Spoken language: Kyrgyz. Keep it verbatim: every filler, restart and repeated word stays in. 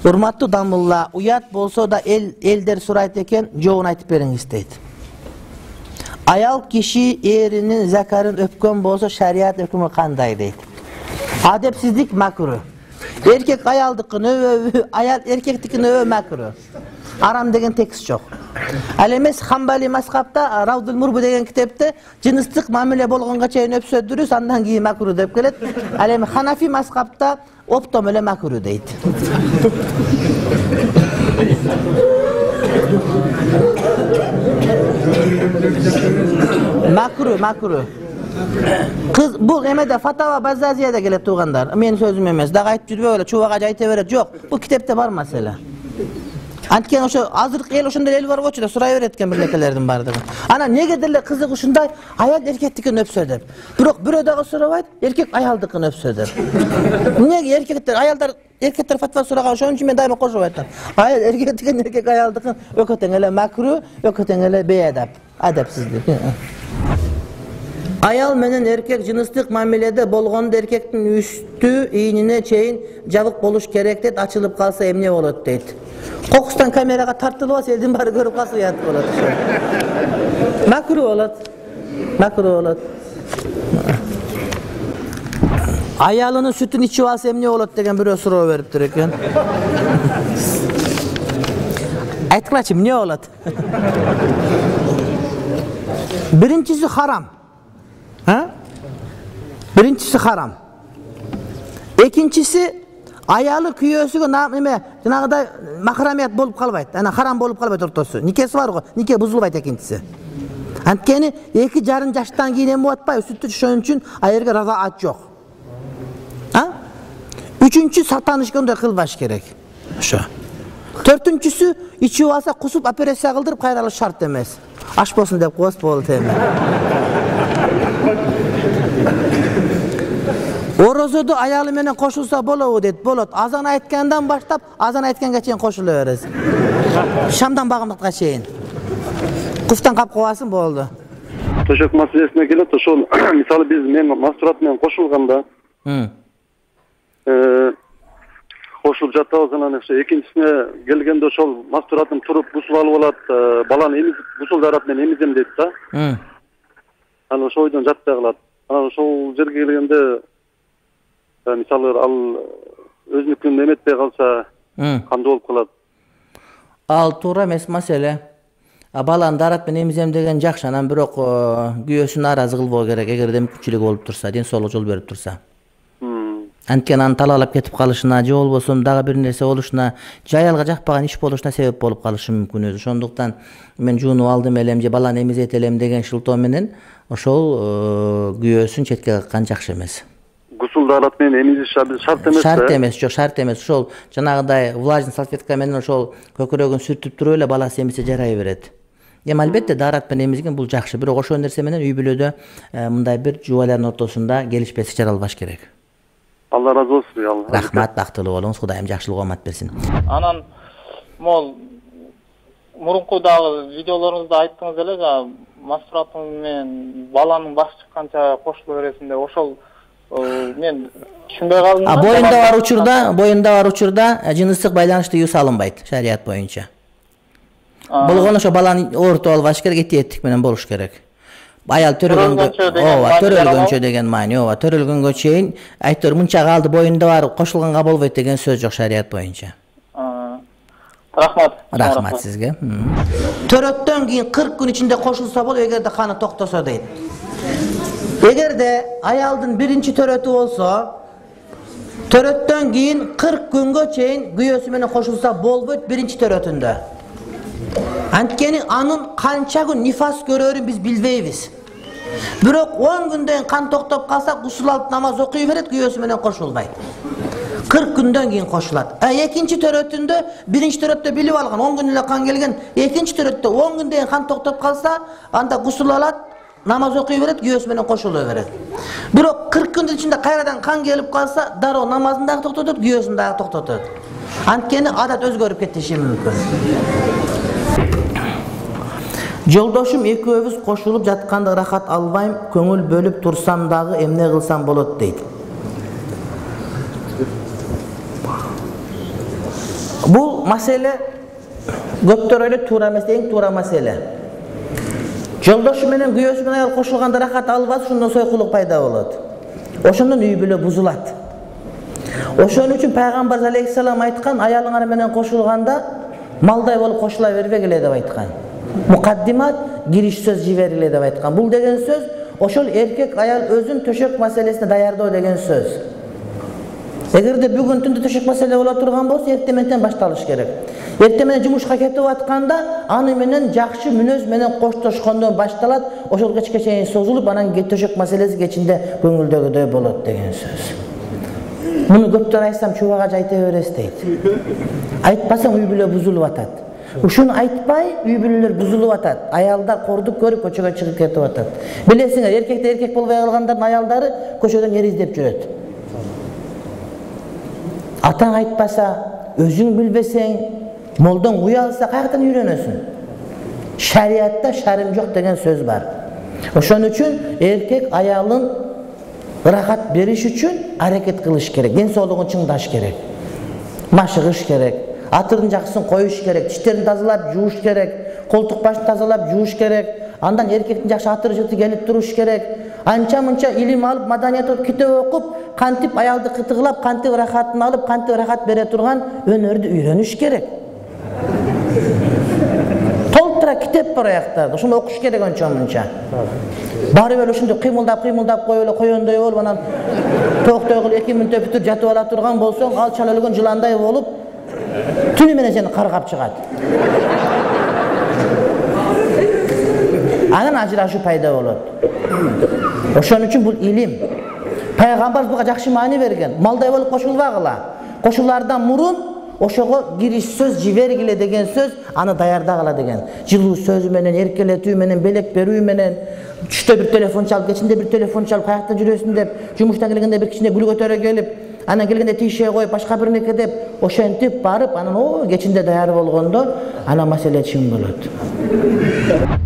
Урматтуу Дамулла, уят болсо да эл элдер сурайт экен, жообун айтып бериңиз дейт. Аял киши эринин закарын өпкөн болсо шарият өкүмү кандай дейт. Адепсиздик макру. Эркек аялдыкын өбө, аял эркектикин өбө макру. Арам деген текст жок. Ал эмес Хамбали мазхабта Равдул Мурбу деген китепте жыныстык мамиле болгонго чейин өпсө дурус, андан кийин макру деп келет. Ал эми Ханафи мазхабта оптом эле макру дейт. Макру, макру. Кыз бул эмеде Фатава Базазияда келет туугандар. Менин сөзүм эмес. Дагы айтып жүрбөй эле чубага айта берет. Жок, бул китепте бар маселе. Анткени ошо азыркы эл ошондой эл барбочу да сурай берет экен бирнекелердин бардыгы. Ана неге деле кызык ушундай аял эркектикин өпсө деп. Бирок бирөө дагы сурабайт, эркек аялдыкын өпсө деп. Неге эркектер, аялдар эркектер фатва сураган, ошон үчүн мен дайыма кошуп айтам. Аял эркектикин, эркек аялдыкын экөө тең эле макру, экөө тең эле бейадап, адепсиздик. Аял менен эркек жыныстык мамиледе болгондо эркектин үстү ийнине чейин жабык болуш керек дейт, ачылып калса эмне болот дейт. Кокустан камерага тартылып алса элдин баары көрүп калса уят болот. Макру болот. Макру болот. Аялынын сүтүн ичип алса эмне болот деген бирөө суроо бериптир экен. Айткылачы, эмне болот? Биринчиси харам. Ha? Birincisi haram. Экинчиси аялы күйөөсүгө эме жанагыдай махрамият болуп калбайт. Ана харам болуп калбайт ортосу. Никеси бар го, нике бузулбайт экинчиси. Анткени эки жарым жаштан кийин эме болуп атпайбы, сүттү ошон үчүн аерге разаат жок. А? Үчүнчү сатанышкандай кылбаш керек. Ошо. Төртүнчүсү ичип алса кусуп операция кылдырып кайралыш шарт эмес. Аш болсун деп коёбуз болот эми. Орозодо аялы менен кошулса болобу дейт. Болот. Азан айткандан баштап азан айтканга чейин кошула бересиз. Шамдан багымдыкка чейин. Куфтан кап коесуң болду. Төшөк маселесине келет. Ошол мисалы биз мен мастурат менен кошулганда, э кошулуп жатабыз, анан ошо экинчисине келгенде ошол мастуратым туруп гусул алып алат, баланы эмизип гусул дарат менен эмизем дейт да. Анан ошол ойдон жатпай калат. Анан ошол жерге келгенде мисалы ал өзүнүкүн эметпей калса кандай болуп калат? Ал туура эмес маселе. Баланы дарат менен эмизем деген жакшы, анан бирок күйөөсүн нааразы кылбоо керек, эгерде мүмкүнчүлүгү болуп турса, ден соолук жол берип турса. Анткени аны талаалап кетип калышына, же болбосо дагы бир нерсе болушуна, же аялга жакпаган иш болушуна себеп болуп калышы мүмкүн өзү. Ошондуктан мен жуунуп алдым элем же баланы эмизет элем деген шылтоо менен ошол күйөөсүн четке каккан жакшы эмес. Гусул дарат менен эмизиш шарт эмес. Шарт эмес, жок, шарт эмес. Ошол жанагыдай влажный салфетка менен ошол көкүрөгүн сүртүп туруп эле баласы эмисе жарай берет. Эми албетте дарат менен эмизген бул жакшы, бирок ошол нерсе менен үй бүлөдө мындай бир жубайлардын ортосунда келишпестик жаралбаш керек. Алла разы болсун. Рахмат, бактылуу болуңуз, Кудайым жакшылык оомат берсин. Анан могул мурунку дагы видеолоруңузда айттыңыз эле, мастураттын менен баланын башы чыкканча кошуло бересиң деп. Ошол мен түшүнбөй калдым. А боюнда бар учурда, боюнда бар учурда жыныстык байланыш тыюу салынбайт шарият боюнча. Болгону ошо баланы оорутуп албаш керек, этиеттик менен болуш керек. Аял төрөлгөнгө, ооба, төрөлгөнчө деген маани, ооба, төрөлгөнгө чейин айтор мынча калды боюнда бар, кошулганга болбойт деген сөз жок шарият боюнча. Рахмат. Рахмат сизге. Төрөттөн кийин кырк күн ичинде кошулса болот, эгерде каны токтосо дейт. Эгерде аялдын биринчи төрөтү болсо, төрөттөн кийин кырк күнгө чейин күйөөсү менен кошулса болбойт биринчи төрөтүндө. Анткени анын канча күн нифас көрөрүн биз билбейбиз. Бирок он күндөн кан токтоп калса, гусул алып намаз окуй берет, күйөөсү менен кошулбайт. кырк күндөн кийин кошулат. А экинчи төрөтүндө, биринчи төрөттө билип алган, он күн эле кан келген, экинчи төрөттө он күндөн кан токтоп калса, анда гусул алат, намаз окуй берет, күйөөсү менен кошуло берет. Бирок кырк күндүн ичинде кайрадан кан келип калса, дароо намазын дагы токтотот, күйөөсүн дагы токтотот. Анткени адат өзгөрүп кетиши мүмкүн. Жолдошум экөөбүз кошулуп жатканда рахат албайм, көңүл бөлүп турсам дагы эмне кылсам болот дейт. Бул маселе көптөр ойлойт туура эмес, эң туура маселе. Жолдошу менен күйөөсү менен аял кошулганда рахат албаса, ошондон сойкулук пайда болот. Ошондон үй бүлө бузулат. Ошон үчүн пайгамбар алейхиссалам айткан, аялыңар менен кошулганда малдай болуп кошула бербегиле деп айткан. Мукаддимат кириш сөз жибергиле деп айткан. Бул деген сөз ошол эркек аял өзүн төшөк маселесине даярдоо деген сөз. Эгерде бүгүн түндө төшөк маселе боло турган болсо, эртең менен башталыш керек. Эртең менен жумушка кетип атканда, аны менен жакшы мүнөз менен коштошкондон башталат, ошол кечке чейин созулуп, анан төшөк маселеси кечинде көңүлдөгүдөй болот деген сөз. Муну көптөр айтсам чубага айта бересиз дейт. Айтпасаң үй бүлө бузулуп атат. Ушуну айтпай үй бүлөлөр бузулуп атат. Аялдар кордук көрүп көчөгө чыгып кетип атат. Билесиңер, эркектер эркек болбой калгандардын аялдары көчөдөн ер издеп жүрөт. Атаң айтпаса, өзүң билбесең, молдон куя алса каяктан үйрөнөсүң? Шариатта шарым жок деген сөз бар. Ошон үчүн эркек аялын рахат бериш үчүн аракет кылыш керек, ден соолугун чыңдаш керек. Машыгыш керек, атырын жакшысын коюш керек, тиштерин тазалап жууш керек, колтук башын тазалап жууш керек. Андан эркектин жакшы атыры жыты келип туруш керек. Анча-мынча илим алып, маданият окуп, китеп окуп, кантип аялды кытыгылап, кантип рахатын алып, кантип рахат бере турган өнөрдү үйрөнүш керек. Толтура китеп бар аяктарда, ошону окуш керек анча-мынча. Бары эле ошондой кыймылдап, кыймылдап коюп эле койгондой болуп, анан токтой кылып эки мүнөттө бүтүп жатып ала турган болсоң, ал чала өлгөн жыландай болуп, түнү менен сени каргап чыгат. Анан ажырашуу пайда болот. Ошон үчүн бул илим. Пайгамбар буга жакшы маани берген. Малдай болуп кошулбагыла. Кошулардан мурун ошого кириш сөз жибергиле деген сөз, аны даярдагыла деген. Жылуу сөзү менен, эркелетүү менен, белек берүү менен, түштө бир телефон чалып, кечинде бир телефон чалып, каякта жүрөсүң деп, жумуштан келгенде бир кичине гүл көтөрө келип, анан келгенде тише коюп, башка бир неке деп, ошентип барып, анан о кечинде даяр болгондо, анан маселе чың болот.